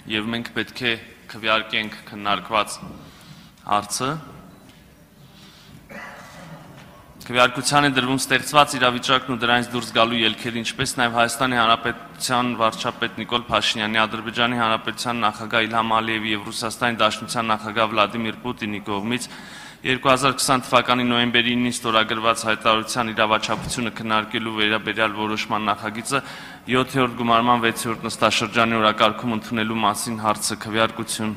եւ մենք պետք է քվեարկենք քննարկված հարցը։ Քվեարկության է դրվում ստեղծված իրավիճակն ու դրանից դուրս գալու ելքերը, ինչպես նաև Հայաստանի Հանրապետության վարչապետ Նիկոլ Փաշինյանի, Ադրբեջանի Հանրապետության նախագահ Իլհամ Ալիևի եւ Ռուսաստանի Դաշնության նախագահ Վլադիմիր Պուտինի կողմից 2020 թվականի նոյեմբերի 9-ին ստորագրված հայտարարության իրավաչափությունը քննարկելու վերաբերյալ որոշման նախագիծը 7-րդ գումարման 6-րդ նստաշրջանի օրակարգում ընդունելու մասին հարցը քվեարկություն։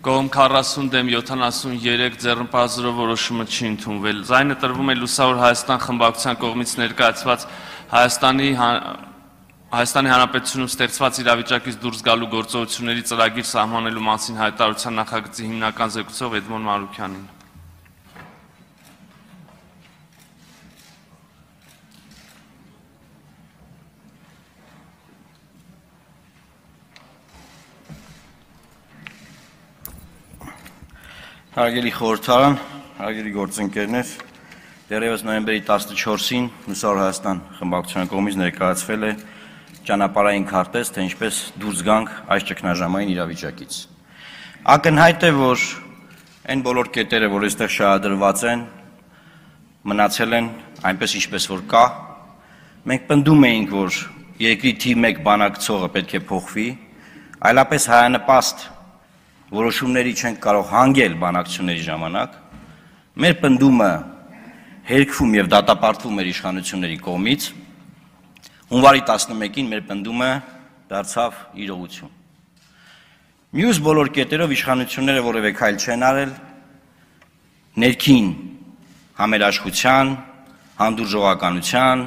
Կողմ 40 դեմ 73 ձեռնպահազրով որոշումը չի ընդունվել։ Ձայնը տրվում է Լուսավոր Հայաստան խմբակցության կողմից ներկայացված Հայաստանի Հանրապետությունում ստեղծված իրավիճակից դուրս գալու գործողությունների ծրագիր սահմանելու մասին հայտարարության նախագծի հիմնական զեկուցող Էդմոն Մանուկյանին։ Հարգելի խորհրդարան, հարգելի գործընկերներ, դեռևս նոյեմբերի 14-ին Լուսավոր Հայաստան խմբակցության կողմից ներկայացվել է ճանապարհային քարտեզ, թե ինչպես դուրս գանք այս ճգնաժամային իրավիճակից։ Ակնհայտ է, որ այն բոլոր կետերը, որ այստեղ շահադրված են, մնացել են այնպես ինչպես որ կա։ Մենք պնդում էինք, որ երկրի թիվ 1 բանակցողը պետք է փոխվի, այլապես հայանպաստ որոշումների չենք կարող հանգել բանակցությունների ժամանակ, մեր պնդումը հերքվում եւ դատապարտվում էր իշխանությունների կողմից, հունվարի 11-ին մեր պնդումը դարձավ իրողություն։ Մյուս բոլոր կետերով իշխանությունները որևէ քայլ չեն արել, ներքին համերաշխության, հանդուրժողականության,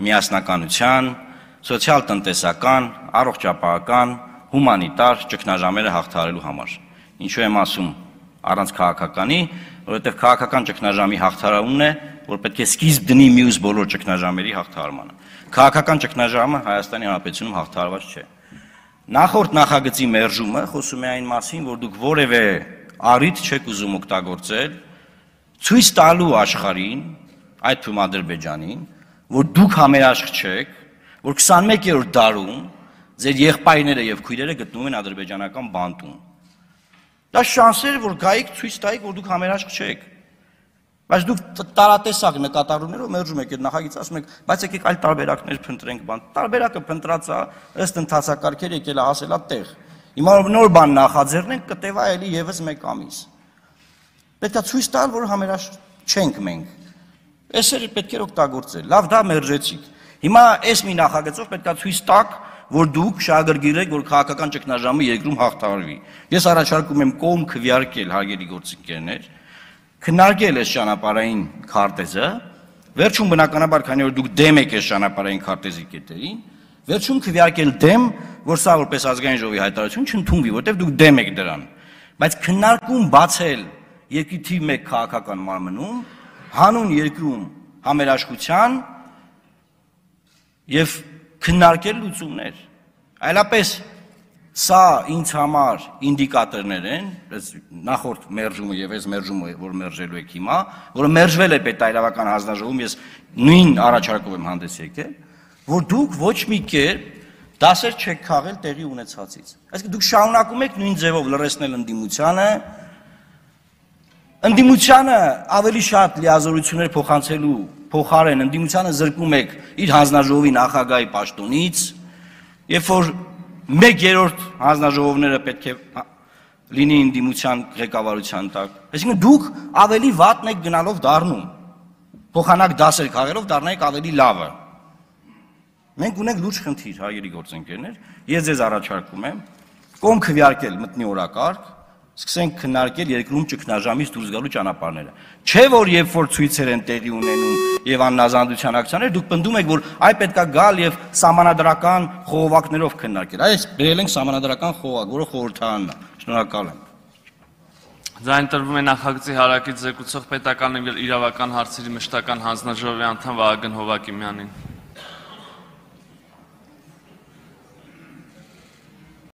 միասնականության, սոցիալ-տնտեսական, առողջապահական, հումանիտար ճգնաժամերը հաղթահարելու համար։ Ինչու եմ ասում առանց քաղաքականի, որովհետև քաղաքական ճգնաժամի հաղթահարումն է, որ պետք է սկիզբ դնի մյուս բոլոր ճգնաժամերի հաղթահարմանը։ Քաղաքական ճգնաժամը Հայաստանի Հանրապետությունում հաղթահարված չէ։ Նախորդ նախագծի մերժումը խոսում է այն մասին, որ դուք որևէ առիթ չեք ուզում օգտագործել ցույց տալու աշխարհին, այդ թվում Ադրբեջանին, որ դուք համերաշխ չեք, որ 21-րդ դարում ձեր եղբայրները եւ քույրերը գտնվում են ադրբեջանական բանտում։ Դա շանսեր, որ գայիք ցույց տայիք, որ դուք համերաշխ չեք։ Բայց դուք տարատեսակ նկատառումներով մերժում եք այդ նախագիծը, ասում եք, բայց եկեք այլ տարբերակներ փնտրենք բան։ Տարբերակը փնտրած է, ըստ ընթացակարգեր եկել է հասել է տեղ։ Հիմա նոր բան նախաձեռնենք, կտևա էլի եւս 1 ամիս։ Պետք է ցույց տալ, որ համերաշխ չենք մենք։ Էսերը պետք է օգտագործել։ Լավ, դա մերժեցիք։ Հիմա այս մի նախագծով պետք է ցույց տաք, որ դուք շահագրգիռ եք, որ քաղաքական ճգնաժամը երկրում հաղթահարվի։ Ես առաջարկում եմ կողմ քվեարկել, հարգելի գործընկերներ, քննարկել այս ճանապարհային քարտեզը, վերջում բնականաբար, քանի որ դուք դեմ եք այս ճանապարհային քարտեզի կետերին, վերջում քվեարկել դեմ, որ սա որպես ազգային ժողովի հայտարարություն չընդունվի, որտեղ դուք դեմ եք դրան։ Բայց քննարկում բացել երկրի թիվ 1 քաղաքական մարմնում, հանուն երկրում համերաշխության եւ քննարկել լուծումներ։ Այլապես սա ինձ համար ինդիկատորներ են, նախորդ մերժումը եւ այս մերժումը, որ մերժելու եք հիմա, որը մերժվել է պետայրավական հանձնաժողովում, ես նույն առաջարկով եմ հանդես եկել, որ դուք ոչ մի կերպ դասեր չեք քաղել տեղի ունեցածից։ Այսինքն դուք շարունակում եք նույն ձևով լրացնել ընդդիմությանը ավելի շատ լիազորություններ փոխանցելու փոխարեն ընդդիմությանը զրկում եք իր հանձնաժողովի նախագահի պաշտոնից, երբ որ 1/3 հանձնաժողովները պետք է լինի ընդդիմության ղեկավարության տակ։ Այսինքն դուք ավելի վատն եք գնալով դառնում, փոխանակ դասեր քաղելով դառնայիք ավելի լավը։ Մենք ունենք լուրջ խնդիր, հարգելի գործընկերներ, ես ձեզ առաջարկում եմ կողմ քվեարկել մտնի օրակարգ, սկսենք քննարկել երկրում ճգնաժամից դուրս գալու ճանապարհները։ Չէ որ երբ որ ցույցեր են տեղի ունենում եւ աննազանդության ակցիաներ, դուք պնդում եք, որ այ պետքա գալ եւ սահմանադրական խողովակներով քննարկել։ Այս բերել ենք սահմանադրական խողովակ, որը խորհրդարանն է։ Շնորհակալ եմ։ Ձայն տրվում է նախագծի հարակից զեկուցող պետական իրավական հարցերի մշտական հանձնաժողովի անդամ Վահագն Հովակիմյանին։